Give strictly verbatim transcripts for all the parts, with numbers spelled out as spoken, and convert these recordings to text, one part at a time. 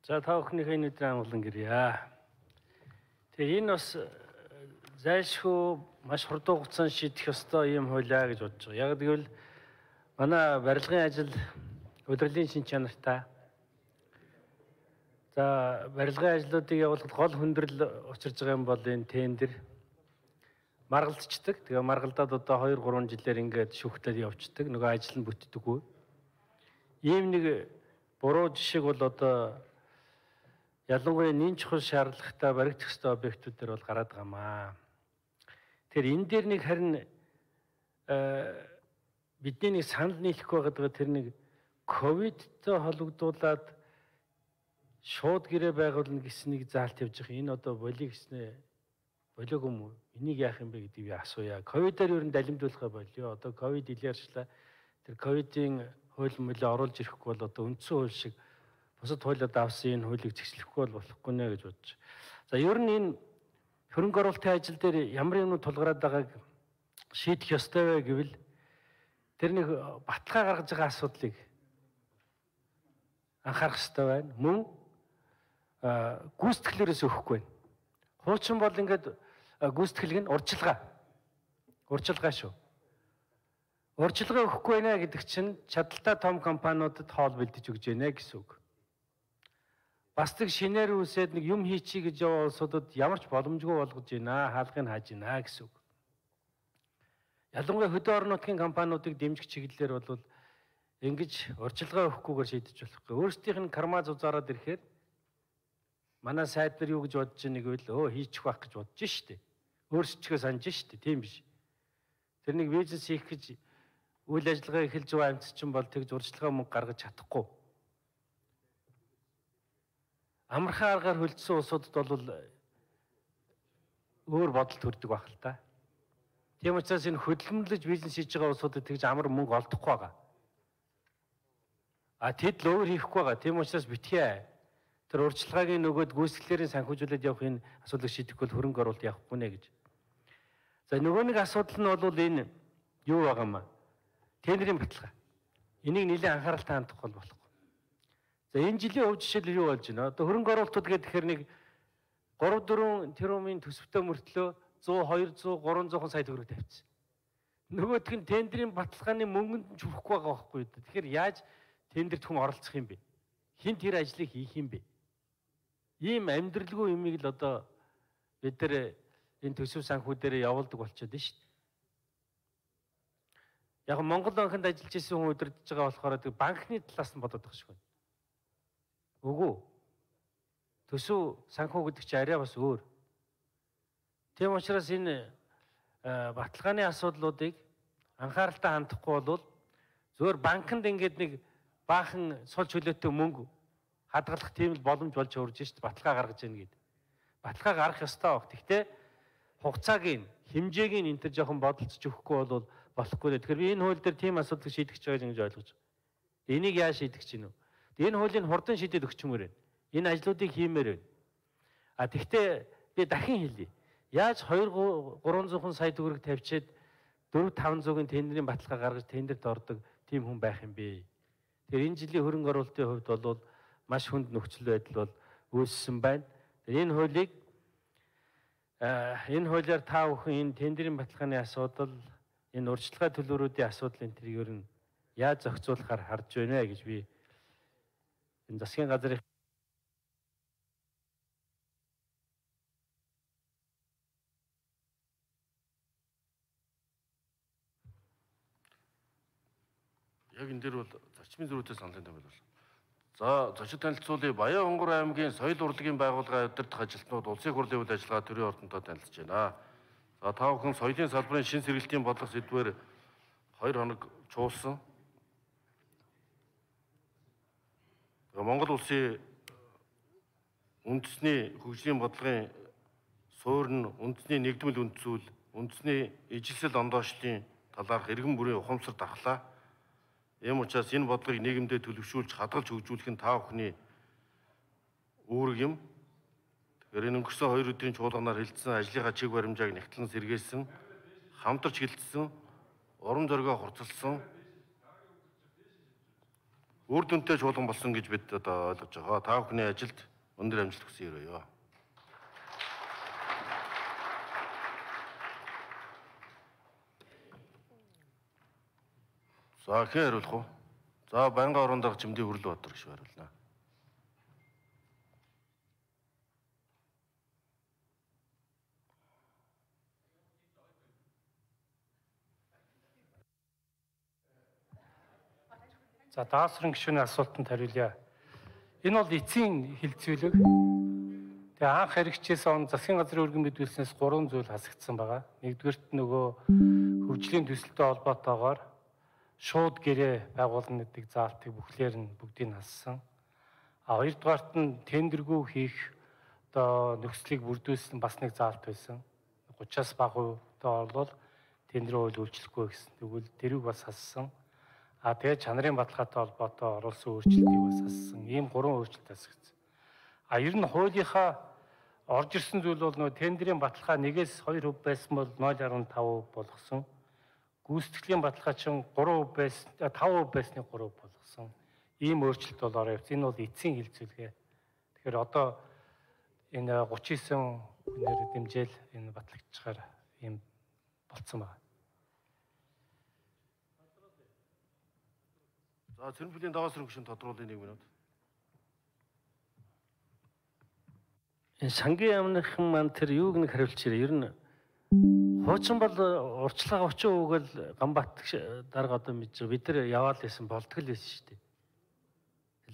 За та бүхнийхээ өнөөдрийн амгалан гэрье. Тэгээ энэ бас зайлшгүй маш хурдан хугацаанд шийдэх ёстой юм хуулиа гэж бодож байгаа. Яг гэвэл манай барилгын ажил удирдлагын шин чанартай. За барилгын ажлуудыг явуулахад гол хүндрэл учирж байгаа юм бол энэ тендер маргалдчихдаг. Тэгээ маргалдаад одоо хоёр гурван жилээр ингээд шүүхтээд явцдаг. Нөгөө ажил нь бүтдэггүй. Ийм нэг буруу жишээг бол одоо ялангуяа нэн чухал шаардлагатай баригдах ёстой объектууд дээр бол гараад байгаамаа. Тэгэхээр энэ дээр нэг харин бидний нэг санал нийлэх байгаад тэр нэг ковидтой холбогдуулаад шууд гэрээ байгуулна гэсэн нэг заалт явж байгаа. Энэ одоо болиг гэснээ болиог юм уу? Энийг яах юм бэ гэдгийг асууя. Ковидаар ер нь далимдуулахаа болио. Одоо ковид илэрчлээ. Тэр ковидын хууль мөлөө оруулж ирэхгүй бол одоо үндсэн хууль шиг бусад хуулиуд авсан энэ хуулийг зэгцлэхгүй бол болохгүй нэ гэж бодож. За ер нь энэ хөрөнгө оруулалтын ажил дээр ямар юмнууд тулгараад байгааг шийдэх ёстой вэ гэвэл тэр нэг баталгаа гаргаж байгаа асуудлыг анхаарах ёстой байна. Мөн гүйцэтгэлээрээс өгөхгүй байна. Хуучин бол ингээд гүйцэтгэлэг нь урьдчилгаа. Урьдчилгаа шүү. Урьдчилгаа өгөхгүй байна гэдэг чинь чадaltaй том компаниудад хоол бэлдэж өгч байна гэсэн үг. Бас нэг шинээр үсээд нэг юм хийчихье гэж яваа улсуудад ямар ч боломжгүй болгож байна, хаалгыг хааж байна гэсэн үг. Ялангуяа хөдөө орон нутгийн компаниудыг дэмжих чиглэлээр бол ингэж урьдчилгаа өгөхгүйгээр шийдэж болохгүй. Өөрсдийнх нь карма зузаараад ирэхээр манай сайд нар юу гэж бодож байгааг гэвэл өө хийчих байх гэж бодож штэ. Өөрсдөө санаж штэ, тийм биш. Тэр нэг бизнес хийх гэж үйл ажиллагаа эхэлж байгаа амьд чинь бол тэгж урьдчилгаа мөнгө гаргаж чадахгүй. Амархан аргаар хөлдсөн улсуудад бол өөр бодол төрдөг байх л та. Тийм учраас энэ хөдөлмөрлөж бизнес хийж байгаа улсуудад тэгж амар мөнгө олдохгүй байгаа. А тэд л өөр хийхгүй байгаа. Тийм учраас битгий тэр урьдчилгаагийн нөгөөд гүйцэтгэлээрийн санхүүжүүлээд явах энэ асуудлыг шийдэх бол хөрөнгө оруулалт явахгүй нэ гэж. За нөгөө нэг асуудал нь бол энэ юу байгаа юм аа? Тендерийн баталгаа. Энийг нэлээд анхааралтай хандах бол болох. За энэ жилийн өв жишээл юу болж байна? Одоо хөрөнгө оруулалтууд гэхээр нэг гурав дөрвөн тэрбумын төсөвтэй мөртлөө зуун хоёрзуун гуравзуун сая төгрөг тавьчихсан. Нөгөөх нь тендерийн баталгааны мөнгөнд нь чүрхгүй байгаа байхгүй юу? Тэгэхээр яаж тендерт хүн оролцох юм бэ? Хин тэр ажлыг хийх юм бэ? Ийм амьдралгүй юмыг л одоо бид нар энэ төсөв санхүү дээр явуулдаг болчиход байна шүү дээ. Яг Монгол банкнд ажиллаж исэн хүн удирдах байгаа болохоор банкны талаас нь бодоод байгаа шиг байна. Үгүй. Төсөв санхүү гэдэг чинь арай бас өөр. Тийм учраас энэ баталгааны асуудлуудыг анхааралтай хандахгүй бол зөвхөн банкнд ингээд нэг баахан сул чөлөөтэй мөнгө хадгалах тийм л боломж болж өрж шít баталгаа гаргаж яана гэдэг. Баталгаа гаргах ёстой баг. Гэхдээ хугацааг нь хэмжээг нь энэ төр жоохон бодолцож өгөхгүй бол болохгүй. Тэгэхээр би энэ хууль дээр тийм асуудлыг шийдэх гэж байгааг ингэж ойлгож байна. Энийг яаж шийдэх гэж гинэ? Энэ хуулийг хурдан шийдээд өгчмөр байна. Энэ ажлуудыг хиймээр байна. А тэгвэл би дахин хэлье. Яаж хоёр гурван сая төгрөг тавьчаад дөрв таван зуугийн тендерийн баталгаа гаргаж тендерт ордог тийм хүн байх юм бэ? Тэгэхээр энэ жилийн хөрөнгө оруулалтын хувьд бол маш хүнд нөхцөл байдал бол үүссэн байна. Энэ хуулийг энэ хуулиар та бүхэн энэ тендерийн баталгааны асуудал, энэ урьдчилгаа төлөөрүүдийн асуудал энэ тэрийг ер нь яаж зохицуулахаар харж байна гэж би энэ засгийн газрын яг энэ дээр бол зарчмын зөрүүтэй саналын томьёол бол. За зочид танилцуулъя. Баян Хонгор аймгийн соёл урлагийн байгууллагын удирдах ажилтнууд улсын хурлын үйл ажиллагаа төрийн ордонтой танилцж байна. За та бүхэн соёлын салбарын шин сэргэлтийн бодлого сэдвээр хоёр хоног чуулсан. Монгол улсын үндэсний хөгжлийн бодлогын суурь нь үндэсний нэгдмэл үндсүүл, үндэсний ижилсэл ондоошлын талаарх иргэн бүрийн ухамсар дархлаа. Ийм учраас энэ бодлогыг нийгэмдээ төлөвшүүлж хадгалж хөгжүүлэх нь та бүхний үүрэг юм. Тэгэхээр энэ өнгөрсөн хоёр өдрийн чуулганаар хилцсэн ажлынхаа чиг баримжааг нягтлан сэргээсэн, хамтарч хилцсэн, урам зоригоо хурцлсан үр дүнтэй чуулган болсон гэж бид одоо ойлгож байгаа. Та бүхний ажилд өндөр амжилт хүсье өрөөё. За хэн хариулах вэ? За байнгын орон дахь Жимдийн Хүрлбаатар гэж хариулна. За даасрын гишүүний асуултанд хариулъя. Энэ бол эцсийн хилцүүлэг. Тэгээ анх хэрэгжижсэн он засгийн газрын өргөн мэдүүлснээс гурван зүйл хасагдсан байгаа. Нэгдүгээрт нөгөө хөгжлийн төсөлтэй холбоотойгоор шууд гэрээ байгуулна гэдэг заалтыг бүхлээр нь бүгдийг хассан. А хоёрдугаарт нь тендергүй хийх одоо нөхцөлийг бүрдүүлсэн бас нэг заалт байсан. гураваас бага хувьтай бол тендерийн хууль үйлчлэхгүй гэсэн. Тэгвэл тэрийг бас хассан. А тэгээ чанарын баталгаатай холбоотой оруулсан өөрчлөлтийг бас хассан. Ийм гурван өөрчлөлт хасагдсан. А ер нь хуулийнхаа орж ирсэн зүйл бол нөгөө тендерийн баталгаа нэгээс хоёр хувь байсан бол нуль гаруй тавь болгосон. Гүйцэтгэлийн баталгаа чинь гурван хувь байсан, тавь хувь байсныг гурав болгосон. Ийм өөрчлөлт бол ороо явц. Энэ бол эцсийн хилцүүлгээ. Тэгэхээр одоо энэ гуравч девять хүнээр дэмжээл энэ батлагдчихаар ийм болцсон байна. За Цэрэнбэлийн даваасрын гишүүн тодруулын нэг минут. Энэ сангийн яамныхан маань тэр юуг нэг хариулж ирээ. Ер нь хуучин бол урьдчилгаа очин үгэл Гамбат дарга одоо мэдж байгаа. Бид нар яваал байсан болтгол байсан шүү дээ.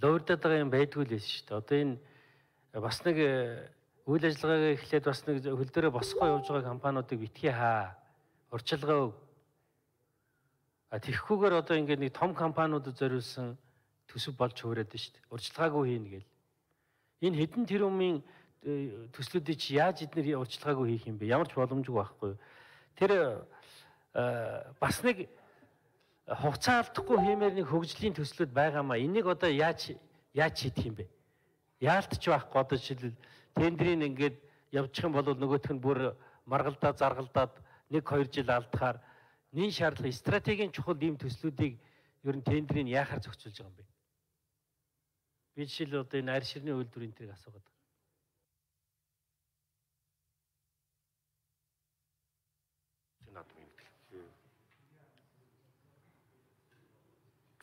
Луурдаад байгаа юм байдгүй л байсан шүү дээ. Одоо энэ бас нэг үйл ажиллагаагаа эхлээд бас нэг хөл дээрээ босгоо явж байгаа компаниудыг битгий хаа. Урьдчилгаа өг. А тэгхгүйгээр одоо ингээд нэг том компаниудад зориулсан төсөв болж хуураад байна шүү дээ. Урьдчилгаагүй хийнэ гэл. Энэ хэдэн тэрбумын төслүүдийг чи яаж эдгээр урьдчилгаагүй хийх юм бэ? Ямар ч боломжгүй байхгүй. Тэр бас нэг хугацаа алдахгүй хиймээр нэг хөгжлийн төслүүд байгаамаа. Энийг одоо яаж яаж шийдэх юм бэ? Яалтч байхгүй одоо жишээлбэл тендерийн ингээд явчих юм бол нөгөөх нь бүр маргалдаа заргалдаад нэг хоёр жил алдахаар нин шаардлага стратегийн чухал ийм төслүүдийг ер нь тендерийг яахаар зохицуулж байгаа юм бэ? Би жишээл одоо энэ арь ширний үйлдвэрийн тэрийг асуугаад байна.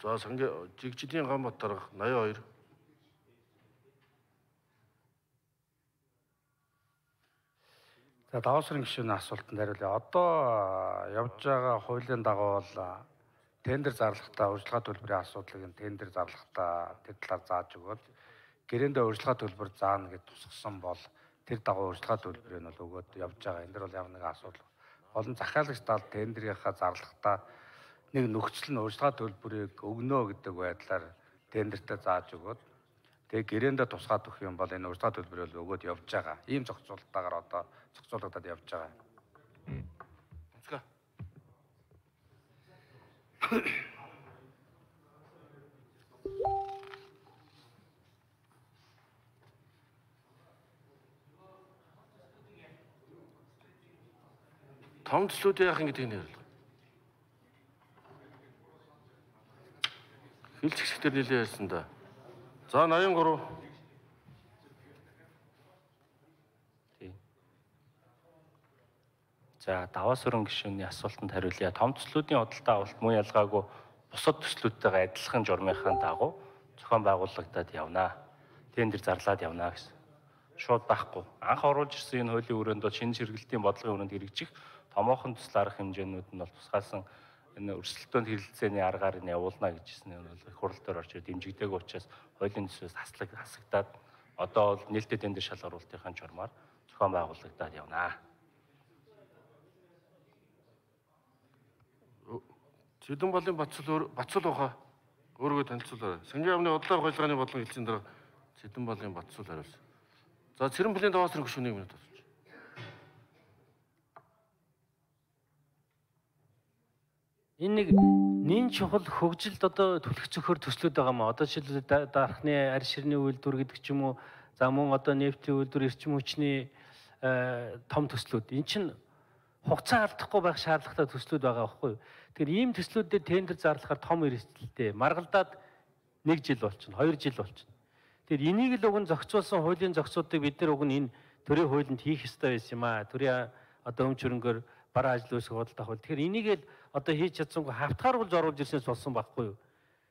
За сангийн Жигжидийн Гамбат дарга восемьдесят хоёр. За даваасрын гишүүний асуултанд хариулъя. Одоо явж байгаа хуулийн дагуу бол тендер зарлахтаа урьдчилгаа төлбөрийн асуудлыг нь тендер зарлахтаа тэр талаар зааж өгөөд гэрээндээ урьдчилгаа төлбөр заана гэж тусгасан бол тэр дагуу урьдчилгаа төлбөрийг нь бол өгөөд явж байгаа. Энэ дэр бол ямар нэгэн асуудал. Олон захиалагч тал тендерийнхаа зарлахтаа нэг нөхцөл нь урьдчилгаа төлбөрийг өгнө гэдэг байдлаар тендертэй зааж өгөөд тэгээ гэрээндээ тусгаад өгөх юм бол энэ урьдчилгаа төлбөрийг өгөөд явж байгаа. Ийм зохицуулалтаагаар одоо зохицуулагдаад явж байгаа. Онцгой. Том төслүүд яах юм гэдэг нь ярил. Хилч хэсгээр нэлээд ярьсан да. За восемьдесят три. Тийм. За даваасрын гишүүний асуултанд хариулъя. Том төслүүдийн худалдаа авалт мөн ялгаагүй бусад төслүүдтэйгээ адилхан журмынхаа дагуу зохион байгуулагдаад явна. Тендер зарлаад явна гэсэн. Шууд байхгүй. Анх оруулж ирсэн энэ хуулийн өрөөнд шинэ сэргэлтийн бодлогын өрөөнд хэрэгжих томоохон төсөл арга хэмжээнүүд нь бол тусгаасан энэ өрсөлдөөнд хэрэлцээний аргаар нь явуулна гэжсэн нь бол хурал дээр орж ирээд дэмжигдээгүй учраас хуулийн төсвөөс хаслаг хасагдаад одоо бол нээлттэй тендер шалгаруулалтын журмаар зохион байгуулагдаад явна. Сэдэн болын Бацал Бацал ухаа өөрийгөө танилцуулаарай. Сангийн яамны бодлого хуулгааны бодлого хэлсэн дараа Сэдэн болын Бацал хариулсан. За Цэрэнбэлийн даваасрын гишүүний минут авч. Энэ нэг нин чухал хөгжилд одоо түлхэх зөхөр төслүүд байгаа маа. Одоо жишээлбэл дархны арь ширний үйлдвэр гэдэг ч юм уу, за мөн одоо нефтийн үйлдвэр, эрчим хүчний том төслүүд. Эн чинь хугацаа алдахгүй байх шаардлагатай төслүүд байгаа байхгүй юу? Тэгэхээр ийм төслүүдэд тендер зарлахаар том эрсдэлтэй. Маргалдаад нэг жил болчихно, хоёр жил болчихно. Тэгэхээр энийг л уг нь зохицуулсан хуулийн зохицуудыг бид нар уг нь энэ төрийн хуулинд хийх ёстой байсан юм аа. Төрийн одоо өмч хөрөнгөөр бараа ажил үүсгэх худалдаа хууль. Тэгэхээр энийг л одоо хийж чадсангүй хавтгааруулж оруулж ирсэнээс болсон байхгүй юу?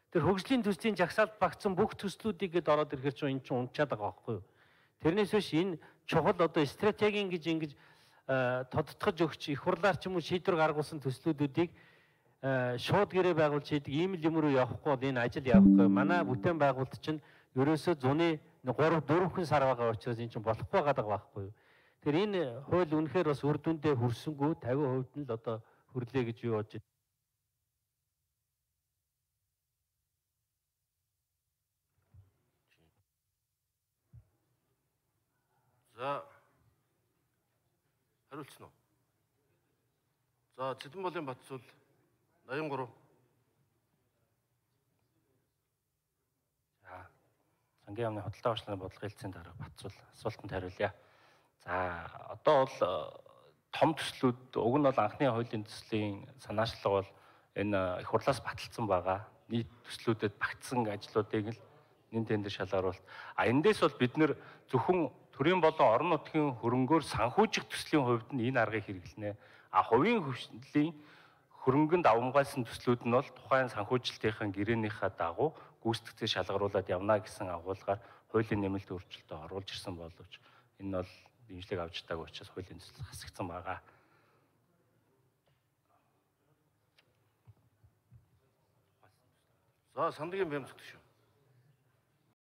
Тэр хөгжлийн төслийн жагсаалт багтсан бүх төслүүдийг гээд ороод ирэхээр чинь эн чинь унтчаад байгаа байхгүй юу? Тэрнээс биш энэ чухал одоо стратегийн гэж ингэж тодтогч өгч их хурлаар ч юм уу шийдвэр гаргуулсан төслүүдүүдийг шууд гэрээ байгуулж хийдэг ийм л юм руу явахгүй бол энэ ажил явахгүй. Манай бүтээн байгуулалт чинь ерөөсөө зуны гурав дөрвөн сар байгаа учраас энэ чинь болохгүй байгаа байхгүй юу? Тэгэхээр энэ хууль үнэхээр бас үр дүндээ хүрсэнгүй тавин хувьд нь л одоо хүрлээ гэж юу бодож байна. За хариулцсан уу? За Цэдэнболын Батцул восемьдесят три. За сангийн яамны худалдаа авчлалын бодлогын хэлтсийн дарга Батцул асуултанд хариулъя. За одоо бол том төслүүд уг нь бол анхны хуулийн төслийн санаачлага бол энэ их хурлаас баталсан байгаа. Нийт төслүүдэд багтсан ажлуудыг л нэн тендер шалгаруулалт. А эндээс бол бид нэр зөвхөн төрийн болон орон нутгийн хөрөнгөөр санхүүжих төслийн хувьд нь энэ аргыг хэрэглэнэ. А хувийн хөгжлийн хөрөнгөнд авамгайлсан төслүүд нь бол тухайн санхүүжилтийн гэрээнийхээ дагуу гүйцэтгэцээ шалгаруулад явна гэсэн агуулгаар хуулийн нэмэлт өөрчлөлтөд оруулж ирсэн боловч энэ бол дэмжлэг авч таагүй учраас хуулийн төсөл хасагдсан байгаа. За Сандагийн Бямцгт шүү.